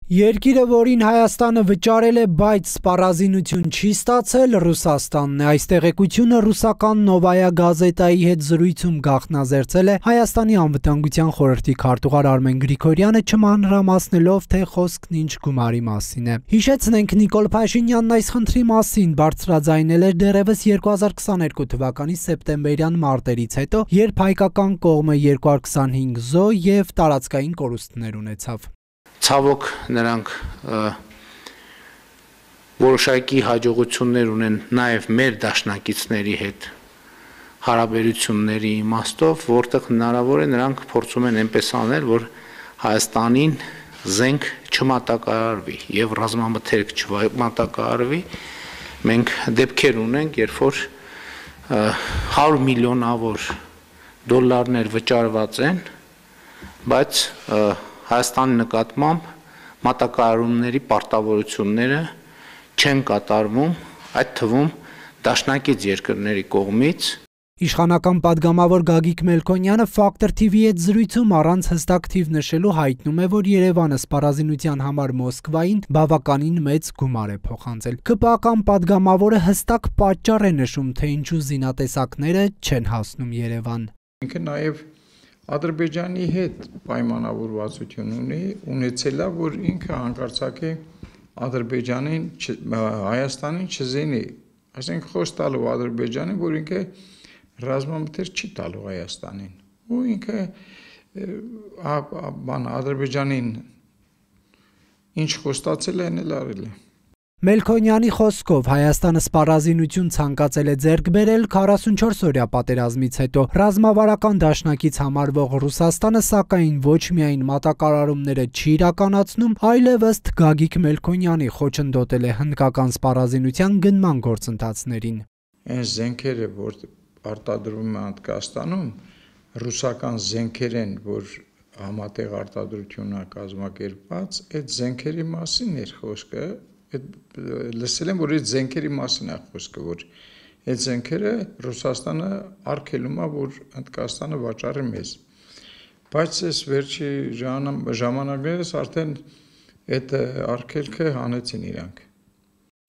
Երկիրը, որին Հայաստանը վճարել է, բայց սպառազինություն չի ստացել, Ռուսաստանն է։ Այս տեղեկությունը ռուսական Նովայա գազետայի հետ զրույցում գաղտնազերծել է Հայաստանի անվտանգության խորհրդի քարտուղար Արմեն Գրիգորյանը, չմանրամասնելով, թե խոսքն ինչ գումարի մասին է։ Հիշեցնենք, Նիկոլ Փաշինյանն այս խնդրի մասին բարձրաձայնել էր դեռևս 2022 թվականի սեպտեմբերյան մարտերից հետո, երբ հայկական կողմը 225 զո եւ տարածքային կորուստներ ունեցավ։ Ցավոք նրանք որոշակի հաջողություններ ունեն նաև մեր դաշնակիցների հետ հարաբերությունների իմաստով, որտեղ հնարավոր է նրանք փորձում են այնպես անել, որ Հայաստանին զենք չմատակարարվի եւ ռազմամթերք չմատակարարվի։ Մենք դեպքեր ունենք, երբ որ 100 միլիոնավոր դոլարներ վճարված են, բայց Հայաստանի նկատմամբ մատակարարումների պարտավորությունները չեն կատարվում, այդ թվում դաշնակից երկրների կողմից։ Իշխանական падգամավոր Գագիկ Մելքոնյանը Factor TV-ի հետ զրույցում առանց հստակ թիվ նշելու հայտնում է, որ Երևանը սպառազինության համար Մոսկվային բավականին մեծ գումար է փոխանցել։ ԿՊԱ-ական падգամավորը հստակ պատճառ է նշում, թե ինչու զինատեսակները չեն հասնում Երևան։ Ինքը նաև Ադրբեջանի հետ պայմանավորվածություն ունեցել է, որ ինքը հանկարծակ է Ադրբեջանին, Հայաստանին չզինի, այսինքն խոսք տալով Ադրբեջանին, որ ինքը ռազմամթեր չի տալու Հայաստանին, ու ինքը Ադրբեջանին ինչ խոստացել է, այն էլ արել է։ Մելքոնյանի խոսքով Հայաստանը սպառազինություն ցանկացել է ձեռք բերել 44-օրյա պատերազմից հետո։ Ռազմավարական դաշնակից համարվող Ռուսաստանը սակայն ոչ միայն մատակարարումները չի իրականացնում, այլև ըստ Գագիկ Մելքոնյանի խոչընդոտել է հնդկական սպառազինության գնման գործընթացներին։ Այն զենքերը, որ արտադրվում են Հնդկաստանում, ռուսական զենքեր են, որ համատեղ արտադրությունն է կազմակերպված, այդ զենքերի մասին էր խոսքը։ Լսել եմ, որ այդ զենքերի մասին է խոսքը, որ այդ զենքերը Ռուսաստանը արգելում է, որ Հնդկաստանը վաճառի մեզ։ Բայց այս վերջի ժամանակներս արդեն այդ արգելքը հանեցին իրանք։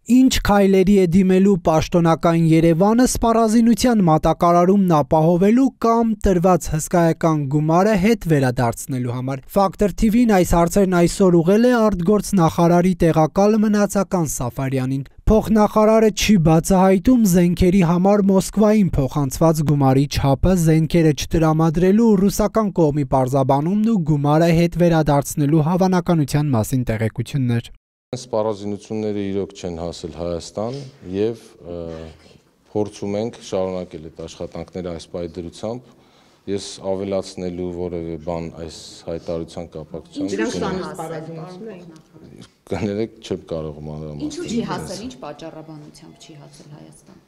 Ինչ քայլերի է դիմելու պաշտոնական Երևանը սպառազինության մատակարարումն ապահովելու կամ տրված հսկայական գումարը հետ վերադարձնելու համար։ Factor TV-ն այս հարցերն այսօր ուղղել է արտգործնախարարի տեղակալ Մնացական Սաֆարյանին։ Փոխնախարարը չի բացահայտում զենքերի համար Մոսկվային փոխանցված գումարի չափը, զենքերը չտրամադրելու ռուսական կողմի պարզաբանումն ու գումարը հետ վերադարձնելու հավանականության մասին տեղեկություններ։ Սպառազինությունները իրոք չեն հասել Հայաստան եւ փորձում ենք շարունակել այդ աշխատանքները այս պայդրությամբ։ Ես ավելացնելու որևէ բան այս հայտարարության կապակցությամբ կներեք չեմ կարող մանրամասնել։ Ինչու չի հասել, ինչ պատճառաբանությամբ չի հասել Հայաստան։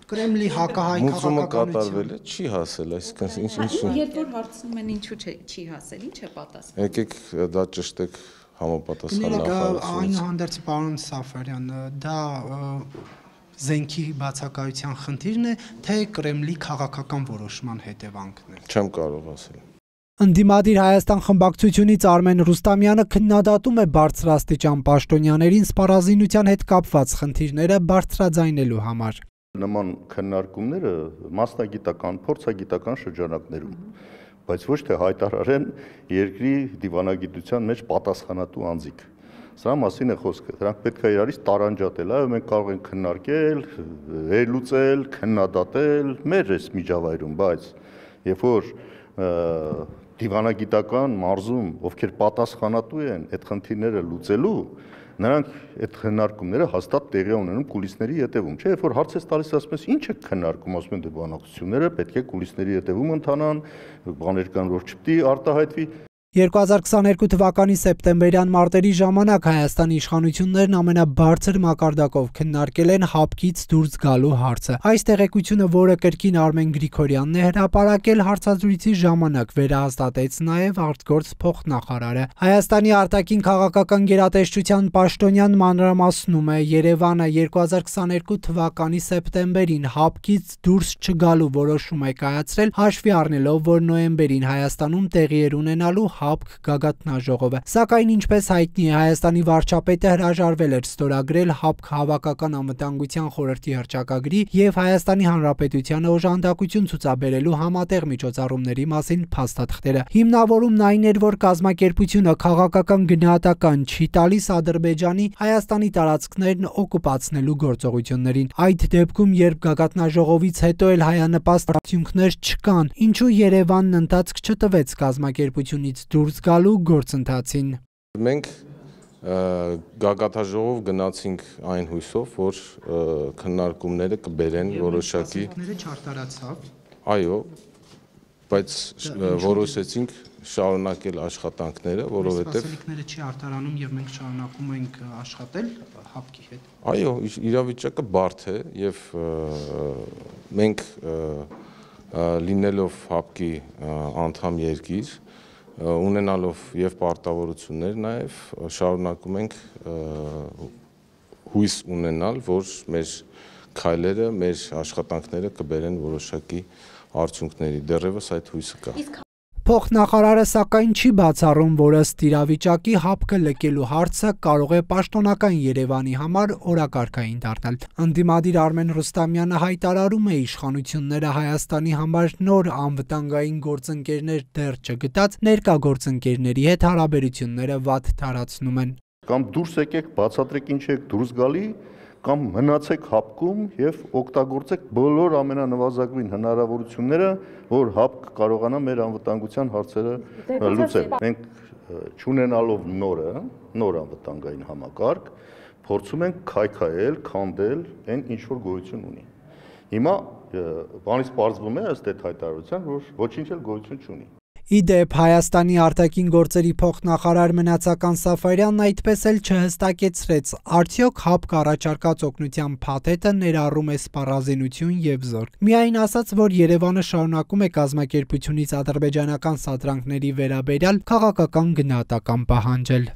Կրեմլի հակահայ քաղաքականությունը չի հասել, այսինքն ինչ երբ որ հարցնում են ինչու չի հասել, ինչ է պատասխանը։ Եկեք դա ճշտեք համապատասխան նախարարությունից։ Այնուհանդերձ պարոն Սաֆարյան, դա զենքի բացակայության խնդիրն է, թե Կրեմլի քաղաքական որոշման հետևանքն է։ Չեմ կարող ասել։ Ընդդիմադիր Հայաստան խմբակցությունից Արմեն Ռուստամյանը քննադատում է բարձրաստիճան պաշտոնյաներին սպառազինության հետ կապված խնդիրները բարձրաձայնելու համար։ Նման քննարկումները մասնագիտական, փորձագիտական շրջանակներում, բայց ոչ թե հայտարարեն երկրի դիվանագիտության մեջ պատասխանատու անձիկ։ Սրա մասին է խոսքը։ Դրանք պետք է իրարից տարանջատել, այո, մենք կարող ենք քննարկել, վերլուծել, քննադատել մեր այս միջավայրում, բայց երբ որ դիվանագիտական մարզում, ովքեր պատասխանատու են այդ խնդիրները լուծելու, նրանք այդ քննարկումները հաստատ տեղի ունենում կուլիսների ետևում, չէ՞, երբ որ հարց ես տալիս, ասում ես, ինչ է քննարկում, ասում են դե բանակցությունները պետք է կուլիսների ետևում ընթանան, բաներ կան, որ չպետք է արտահայտվի։ 2022 թվականի սեպտեմբերյան մարտերի ժամանակ Հայաստանի իշխանություններն ամենաբարձր մակարդակով քննարկել են հապկից դուրս գալու հարցը։ Այս տեղեկությունը, որը կրկին Արմեն Գրիգորյանն է հրապարակել հարցազրույցի ժամանակ, վերահաստատեց նաև արտգործ փոխնախարարը։ Հայաստանի արտաքին քաղաքական գերատեսչության պաշտոնյան մանրամասնում է, Երևանը 2022 թվականի սեպտեմբերին հապկից դուրս չգալու որոշում է կայացրել, հաշվի առնելով, որ նոյեմբերին Հայաստանում տեղի էր ունենալու ՀԱՊԿ գագաթնաժողովը։ Սակայն ինչպես հայտնի է, Հայաստանի վարչապետը հրաժարվել էր ստորագրել ՀԱՊԿ Հավաքական անվտանգության խորհրդի հռչակագրի եւ Հայաստանի Հանրապետությանը օժանդակություն ցուցաբերելու համատեղ միջոցառումների մասին փաստաթղթերը։ Հիմնավորումն այն էր, որ կազմակերպությունը քաղաքական գնահատական չի տալիս Ադրբեջանի Հայաստանի տարածքներն օկուպացնելու գործողություններին։ Այդ դեպքում, երբ գագաթնաժողովից հետո էլ հայանպաստ արդյունքներ չկան, ինչու Երևանն ընթացք չտվեց կազմակերպությունից դուրս գալու գործընթացին։ Մենք գագաթնաժողով գնացինք այն հույսով, որ քննարկումները կբերեն որոշակի չարտարացավ։ Այո, բայց որոշեցինք շարունակել աշխատանքները, որովհետև սպասելիքները չի արտարանում եւ մենք շարունակում ենք աշխատել ՀԱՊԿ-ի հետ։ Այո, իրավիճակը բարդ է եւ մենք լինելով ՀԱՊԿ-ի անդամ երկիր, ունենալով եւ պարտավորություններ նաեւ շարունակում ենք հույս ունենալ, որ մեր քայլերը, մեր աշխատանքները կբերեն որոշակի արդյունքների։ Դեռևս այդ հույսը կա։ Փոխնախարարը սակայն չի բացառում, որ ըստ իրավիճակի ՀԱՊԿ-ը լքելու հարցը կարող է պաշտոնական Երևանի համար օրակարգային դառնալ։ Ընդդիմադիր Արմեն Ռուստամյանը հայտարարում է իշխանությունները Հայաստանի համար նոր անվտանգային գործընկերներ դեռ չգտած ներկա գործընկերների հետ հարաբերությունները վատ թարացնում են։ Կամ դուրս եկեք, բացատրեք ինչ եք դուրս գալի, կամ մնացեք ՀԱՊԿ-ում եւ օգտագործեք բոլոր ամենանվազագույն հնարավորությունները, որ ՀԱՊԿ կարողանա մեր անվտանգության հարցերը լուծել։ Մենք չունենալով նոր անվտանգային համակարգ, փորձում ենք քայքայել, քանդել այն ինչ որ գոյություն ունի։ Հիմա բանից պարզվում է ըստ այդ հայտարարության, որ ոչինչ էլ գոյություն չունի։ Իդեպ Հայաստանի արտաքին գործերի փոխնախարար Մնացական Սաֆարյանն այդպես էլ չհստակեցրեց, արդյոք ՀԱՊԿ առաջարկած օգնության փաթեթը ներառում է սպառազինություն եւ զորք։ Միայն ասաց, որ Երևանը շարունակում է կազմակերպությունից ադրբեջանական սադրանքների վերաբերյալ քաղաքական գնահատական պահանջել։